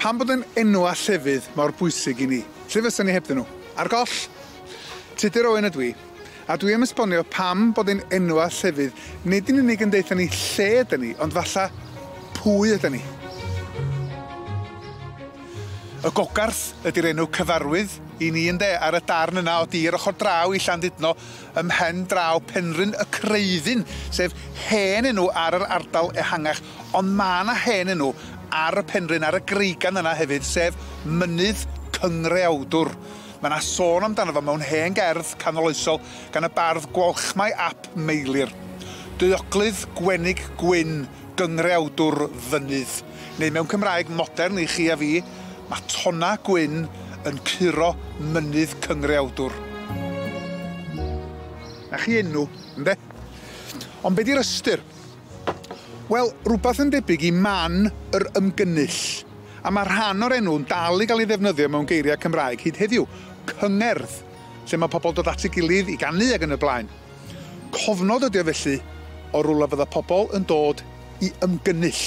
Pam bod yn enwa llefydd mor bwysig i ni? Lle fysa ni hebddyn nhw? Ar goll? Tudur Owen ydw i, a dwi am esbonio pam bod ein enwa llefydd nid yn unig yn deutha ni lle ydyn ni, ond falla pwy ydyn ni. Y Gogarth ydy'r enw cyfarwydd i ni ynde, ar y darn yna o dir ochr draw i Llandudno ym mhen draw Penrhyn y Creuddyn, sef hen enw ar yr ardal ehangach, ond ma' 'na hen enw ar y penrhyn, ar y greigan yna hefyd, sef Mynydd Cyngreawdwr. Mae 'na sôn amdano fo mewn hen gerdd canoloesol gan y bardd Gwalchmai ap Meilir. Deuoglydd Gwenig Gwyn Gyngreawdwr Fynydd. Neu mewn Cymraeg modern i chi a fi, mae tonna gwyn yn curo Mynydd Cyngreawdwr. 'Na chi enw, ynde? Ond be' 'di'r ystyr? Wel, rwbath yn debyg i man yr ymgynnull. A ma' rhan o'r enw'n dal i gael ei ddefnyddio mewn geiriau Cymraeg hyd heddiw, cyngerdd, lle ma' pobl dod at ei gilydd i ganu ag yn y blaen. Cofnod ydi o felly o rywle fydda pobl yn dod i ymgynnull.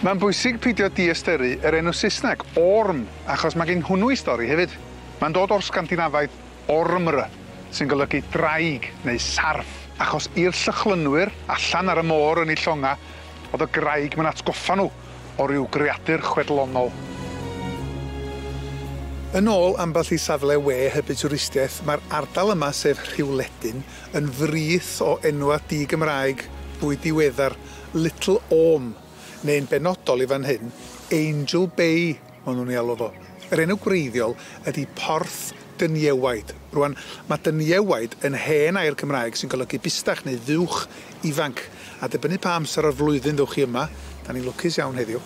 Mae'n bwysig peidio diystyru yr enw Saesneg, Orme, achos mae gen hwnnw ei stori hefyd. Mae'n dod o'r Sgandinafaidd Ormr, sy'n golygu draig neu sarff, achos i'r Llychlynwyr allan ar y môr yn eu llonga, o'dd y graig 'ma'n atgoffa nhw o ryw greadur chwedlonol. Yn ôl ambell i safle we hybu twristiaeth, mae'r ardal yma, sef Rhiwledyn, yn frith o enwa' di-Gymraeg fwy diweddar, Little Orme, neu'n benodol i fan hyn, Angel Bay maen nhw'n ei alw fo. Yr enw gwreiddiol ydy Porth Dyniewaid. Rwan, mae dyniewaid yn hen air Cymraeg sy'n golygu bustach neu fuwch ifanc, a dibynnu pa amser o'r flwyddyn ddowch chi yma, da ni'n lwcus iawn heddiw,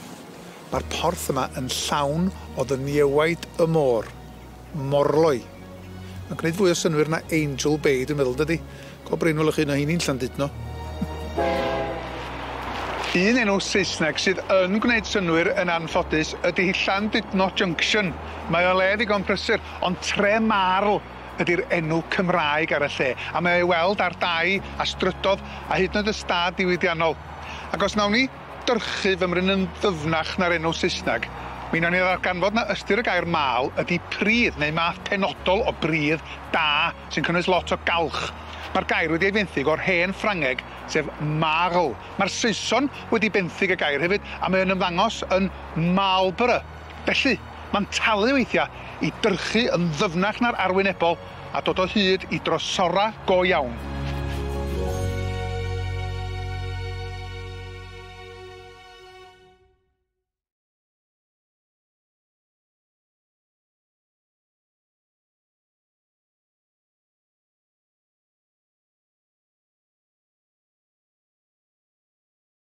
mae'r porth yma yn llawn o ddyniewaid y môr. Morloi. Mae'n gwneud fwy o synnwyr na Angel Bay, dwi'n meddwl, dydy? Go brin welwch chi un o heini'n Llandudno. Un enw Saesneg sydd yn gwneud synnwyr yn anffodus ydy Llandudno Junction. Mae o le ddigon prysur, ond Tre Marl ydy'r enw Cymraeg ar y lle, a mae o i weld ar dai a strydodd a hyd yn oed y stad diwydiannol. Ac os nawn ni dyrchu fymryn yn ddyfnach na'r enw Saesneg, mi nawn ni ddarganfod na ystyr y gair mal ydy pridd, neu math penodol o bridd da sy'n cynnwys lot o galch. Mae'r gair wedi ei fenthyg o'r hen Ffrangeg, sef marl. Mae'r Saeson wedi benthyg y gair hefyd, a mae o'n ymddangos yn Marlborough. Felly, mae'n talu weithiau i dyrchu yn ddyfnach na'r arwynebol a dod o hyd i drosorau go iawn.